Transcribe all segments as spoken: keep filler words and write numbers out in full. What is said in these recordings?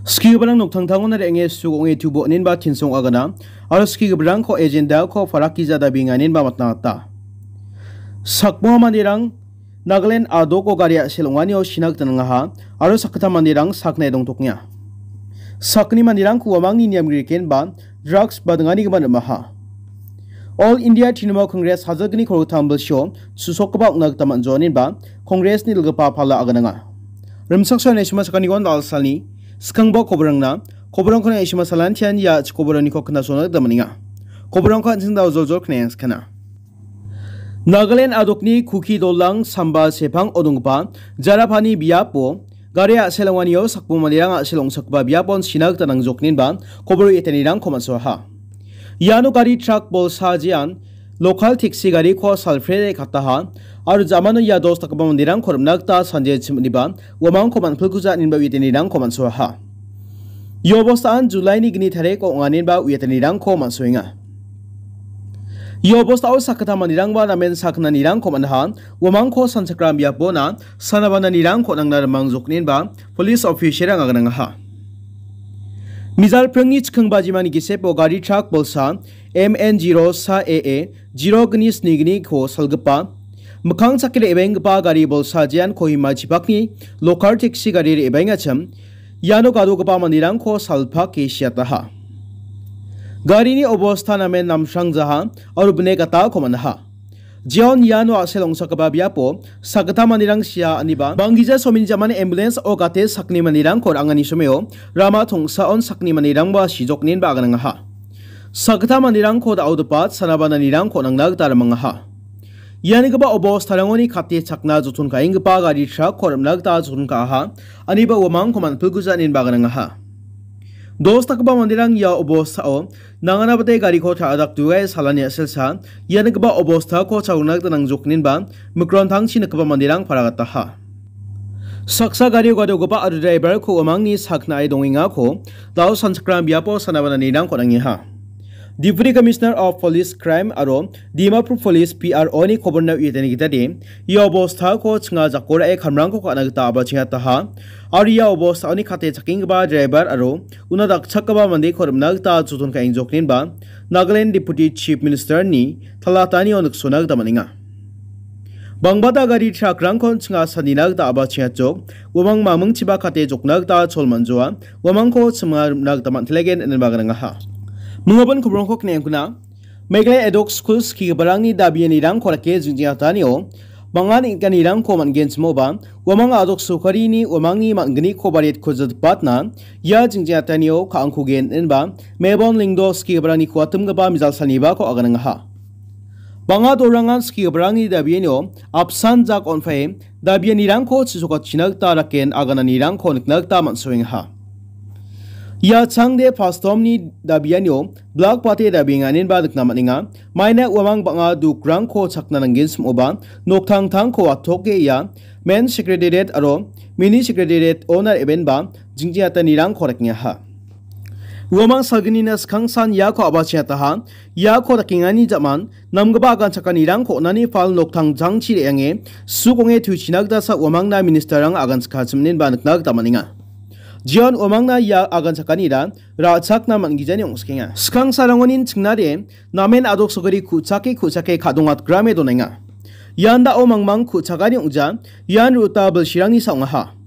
Skigiparang noktangtangona re·ange suk ong·e tubo aninba tinsong agana, aro skigiparangko agenda-ko farakija dabienganinba matna gita. Sakbo manderang Nagaland a·doko gari a·sel ong·anio sina gita nangaha, aro sakgittam manderang saknae dongtokenga. Sakgni manderangko uamangni niam grikenba drugs badinganigimin rimaha. All India Trinamool Congress hajalgni kolgittam bilsio susokgipa ong·na gita man·joaninba Congressni dilgipa pala agananga. Rimchaksoa Naishima Sakanigon Dalsalni skangba koborangna, koborangko Naishima Salantian ia chikoboraniko knasona gita man·enga. Koborangko an·ching dao joljol knayangskana. Nagaland a·dokni Kuki Dolang samba sepang odonggipa Jarapani biapo gari a·sel ong·anio sakbo manderang a·sel ong·sakgipa biapon sina gita nangjokninba kobor etanirangko man·soaha. Iano gari trak bolsa jean lokal teksi gariko salfrede kataha aro jamano ia dos dakgipa manderangko rim·na gita sanje chim·niba uamangko man·pilkuja ninba etanirangko man·soaha. Ia obostaan Julaini gni tariko ong·aninba uiatanirangko man·soenga. Ia obostao sakgittam manderangba namen sakgnanirangko man·aha, uamangko sanchakram biapona sanabananirangko nangna rimangjokninba police officer-rang aganangaha. Mijal pringni chikking bajimani gisepo gari trak bolsa M N zero sa A A zero gni sni gniko salgipa, mikkang chakki re·baenggipa gari bolsa jean Kohima chipakni lokal teksi gari re·baengachim, iano gadogipa manderangko salpake siataha. Garini obosta namen namsrangjaha aro bine gatako man·aha. Jeon iano a·sel ong·sakgipa biapo sakgittam manderang sia aniba banggija someni jamani ambulance-o gate sakni manderangko ra·angani someo rama tongsaon sakni manderangba sijokninba aganangaha. Sakgittam manderangko da·o dipat sanabananirangko nangna gita rimangaha. Ianigipa obostarangoni kate chakna joton ka·enggipa gari trakko rim·na gita joton ka·aha, aniba uamangko man·pilguja inenba aganangaha. Dos dakgipa manderang ia obostao nanganabate gariko ta·adakdoe salani a·selsa, ianigipa obostako chalona gita nangjokninba mikrantangchi nikgipa manderang paragataha. Saksa gario gadogipa aro driver-ko uamangni saknae dongengako da·o sanchakram biapo sanabananirangko nangeha. Deputy Commissioner of Police Crime aro Dimapur Police P R O-ni koborna uiatani gitade, ia obostako chinga jako ra·e kamrangko ka·na gita a·bachengataha. Aro ia obostaoni kate chakenggipa driver aro una dakchakgipa mandeko rim·na gita joton ka·engjokninba Nagaland Deputy Chief Minister-ni talatanio niksona gita man·enga. Bangbata gari trakrangkon chinga sanina gita a·bachengachok, uamang mamingchiba kate jokna gita chol man·joa, uamangko chima rim·na gita man·telegen inenba gnangaha. Mingabon kobrongko kne·engkuna, Meghalaya Edok School skigiparangni dabianirangko rake jingjingatanio, bang·a neng·gipanirangko man·genchimoba, uamang a·dok sorkarini uamangni man·gniko bariatko jatpatna, ia jingjingatanio ka·angkogen inenba, Mebon Lyngdoh skigiparangni kuatimgipa mijal salnibako aganangaha. Bang·a dorangan skigiparangni dabianio apsan jak on·pae dabianirangko chisokachina gita raken agananirangko nikna gita man·soengaha. Ia changde pastorni dabianio blak bate dabienganinba nikna man·enga. Maina uamang bang·a dukrangko chakna nanggenchimoba noktangtangko atoke ia men secretariat aro mini secretariat-ona re·benba jingjingatanirangko rakengaha. Uamang salgnina skangsan iako a·bachengataha, iako dakengani ja·man, namgipa aganchakanirangko on·ani pal noktangtangchi re·ange, suk ong·e tuchina gitasa uamangna minister-rang aganchakachim inenba nikna gita man·enga. Jeon uamangna ia aganchakanira ra·chakna man·gijani ong·skenga. Skangsarangonin chingnade, namen a·dok sokari ku·chake ku·chake ka·dongatgrame donenga. Ian da·o mangmang ku·chakani ong·ja, ian ruta bilsirangni sa ong·aha.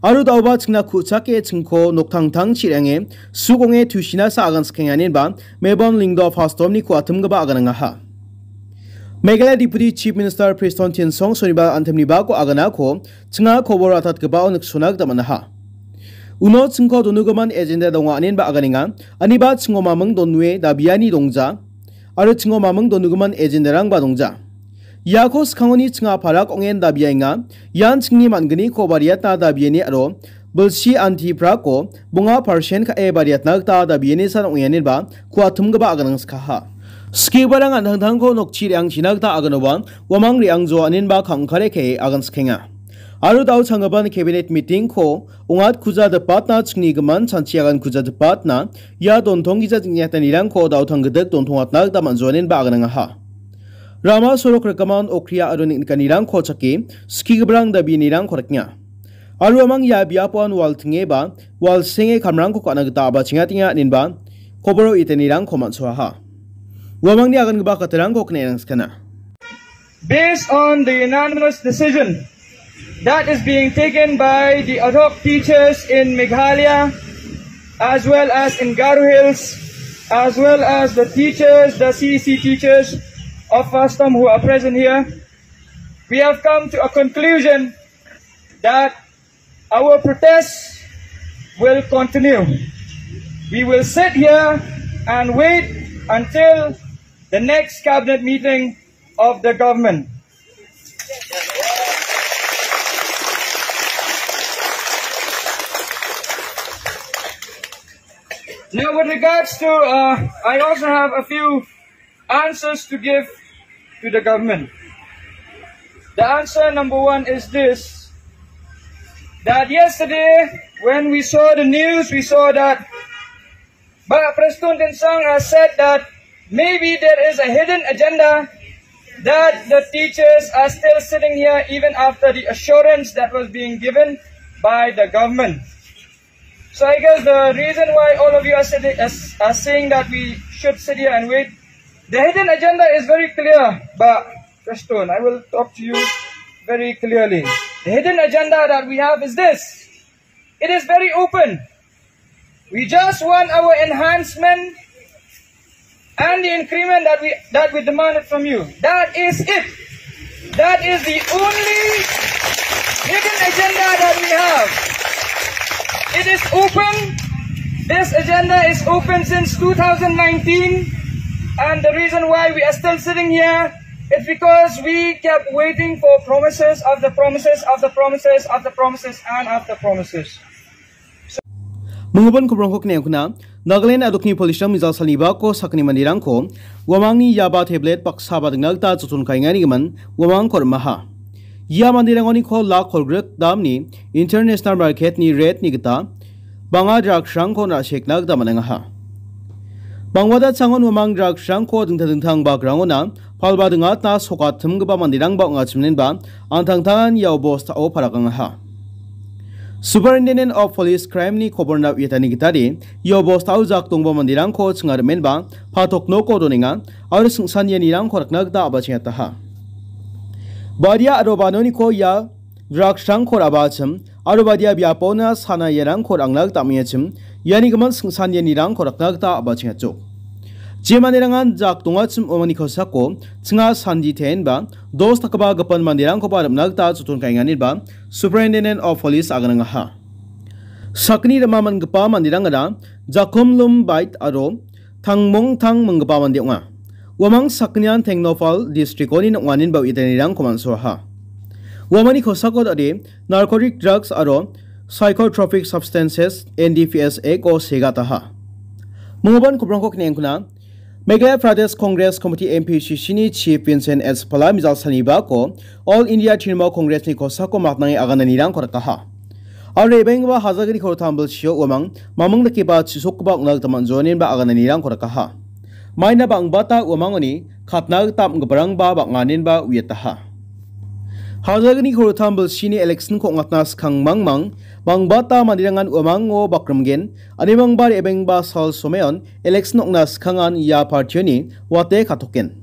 Aro da·oba chingna ku·chake chingko noktangtangchi re·ange, suk ong·e tusinasa aganskaenganinba Mebon Lyngdoh pastorni kuatimgipa aganangaha. Meghalaya Deputy Chief Minister Prestone Tynsong sonibar antimnibako aganako chinga kobor atatgipao niksona gita man·aha. Uno chingko donugimin agenda donga inenba aganenga, aniba chingo maming donue dabiani dongja, aro chingo maming donugimin agendarangba dongja. Iako skangoni chinga parak ong·en dabiaenga, ian chingni man·gniko bariatna dabiani aro bilsi anti prako bonga persen ka·e bariatna gita dabiani san ong·enba kuatimgipa aganangskaha. Skigiparang an·tangtangko nokchi re·angchina gita aganoba uamang re·angjoa inenba kangkare ka·e aganskenga. Aro da·o changgipan cabinet meeting-ko ongatkuja dipatna chingni gimin chanchi agankuja dipatna ia dontonggija jingjingatanirangko da·o tanggidik dontongatna gita man·joa inenba aganangaha. Rama sorok rikgimin okria aro neng·nikanirangko chake skigiparang dabianirangko rikna. Aro uamang ia biapoan wal ting·eba, wal senge kamrangko ka·na gita a·bachengatenga inenba koboro itenirangko man·soaha. Uamangni agangipa katarangko kne·e nangskana. Based on the unanimous decision that is being taken by the ad hoc teachers in Meghalaya, as well as in Garo Hills, as well as the teachers, the C E C teachers of FASTOM who are present here, we have come to a conclusion that our protest will continue. We will sit here and wait until the next cabinet meeting of the government. Now, with regards to, uh, I also have a few answers to give to the government. The answer number one is this, that yesterday when we saw the news, we saw that Bah Prestone Tynsong has said that maybe there is a hidden agenda that the teachers are still sitting here even after the assurance that was being given by the government. So I guess the reason why all of you are, sitting, is, are saying that we should sit here and wait, the hidden agenda is very clear, Bah Prestone. I will talk to you very clearly. The hidden agenda that we have is this. It is very open. We just want our enhancement and the increment that we, that we demanded from you. That is it. That is the only hidden agenda that we have. It is open. This agenda is open since two thousand nineteen. And the reason why we are still sitting here is because we kept waiting for promises after promises after promises after promises and after promises. Minggipa kobrongko kne·e ong·kona, Nagaland a·dokni police-rang mijal salnibako sakgni manderangko uamangni yaba tablet baksa badingna gita joton ka·engani gimin uamangko rimaha. Ia manderangoni kol lak kolgrik damni International Market-ni rate-ni gita bang·a drugs-rangko na·sekna gita man·engaha. Bangbata changon uamang drugs-rangko dingtang dingtang bagrangona palba ding·atna sokatimgipa manderangba ong·achiminenba an·tangtangan ia obostao parakangaha. Superintendent of Police Crime-ni koborna uiatani gitade ia obostao jak dongba manderangko chingarimenba patok noko donenga aro singsan ianirangko rakna gita a·bachengataha. Badia aro banoniko ia drugs-rangko ra·bachim aro badia biapona sana iarangko ra·angna gita am·eachim, iani gimin singsan ianirangko rakna gita a·bachengachok. Je manderangan jak dongachim uamangni kosako chinga sandi teenba dos dakgipa gipin manderangkoba rim·na gita joton ka·enganiba Superintendent of Police aganangaha. Sakgni rima man·gipa manderangara Jakomlum Bait aro Tangmongtang minggipa mande ong·a. Uamang sakgnian Tengnoupal district-oni ong·aninba uiatanirangko man·soaha. Uamangni kosako dade Narcotic Drugs aro Psychotropic Substances, N D P S Act-o segataha. Minggipa kobrongko kne·e ong·kona, Meghalaya Pradesh Congress Committee, M P C C-ni Chief Vincent H Pala mijal salnibako All India Trinamool Congress-ni kosako maknange agananirangko rikaha. Aro re·baenggipa Hajagiri Korotam bilsio uamang mamung dakeba chisokgipa ong·na gita man·joaninba agananirangko rikaha. Maina bangbata uamangoni katna gita am·giparangba bang·aninba uiataha. Hajagiri Korotam bilsini election-ko ong·atna skang mangmang bangbata manderangan uamango bakrimgen, animangba re·baenggipa sal someon election ong·na skangan ia partioni wate katoken.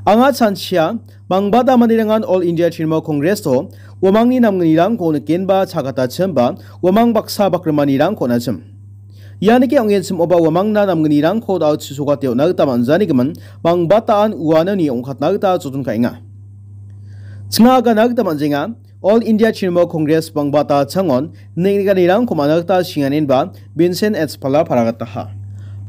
Anga chanchia, bangbata manderangan All India Trinamool Congress-o uamangni namgnirangko nikenba chagatachimba uamang baksa bakrimanirangko on·achim. Ia nike ong·enchim oba uamangna namgnirangko da·o chisokate on·na gita man·janigimin bangbataan uanoni ong·katna gita joton ka·enga. Chinga agana gita man·jenga, All India Trinamool Congress bangbata changon neng·nikanirangko man·a gita singaninba Vincent H Pala paragataha.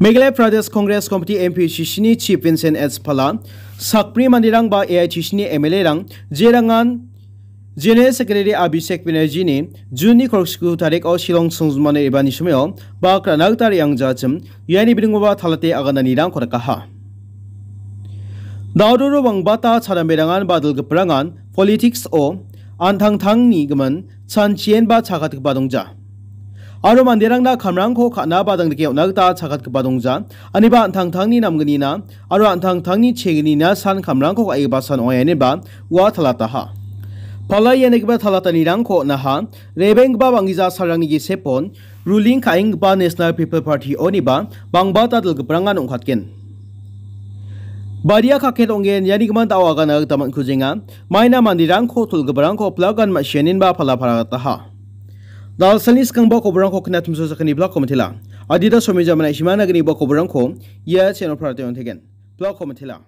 Meghalaya Pradesh Congress Committee, M P C C-ni Chief Vincent H Pala, sakbri manderang ba A I T C-ni M L A-rang jerangan General Secretary Abhishek Banerjee-ni June-ni kolgriksku tariko Shillong songjinmani re·baani somoio bak ra·na gita re·angjachim, iani bidingoba talate agananirangko rikaha. Daudoro bangbata charamberangan ba dilgiparangan politics-o an·tangtangni gimin chanchienba chagatgipa dongja. Aro manderangna kamrangko ka·na ba dangdike on·na gita chagatgipa dongja. Aniba an·tangtangni namgnina aro an·tangtangni chegnina san kamrangko ka·e basan ong·a ineba ua talataha. Pala ianigipa talatanirangko on·aha, rebenggipa bang·gija salrangni gisepon, ruling ka·enggipa National People Party oniba bangbata dilgiprangan ong·katgen. Badia kaket ong·gen ianigimin da·o agana gita man·kujenga, maina manderangko tolgiparangko plagan ma·sianinba pala paragataha. Dalsalni skangba koborangko knatumso sakani blakko mitela. Adita somija mana isimana gniba koborangko ia channel parate on·tegen. Blakko mitela.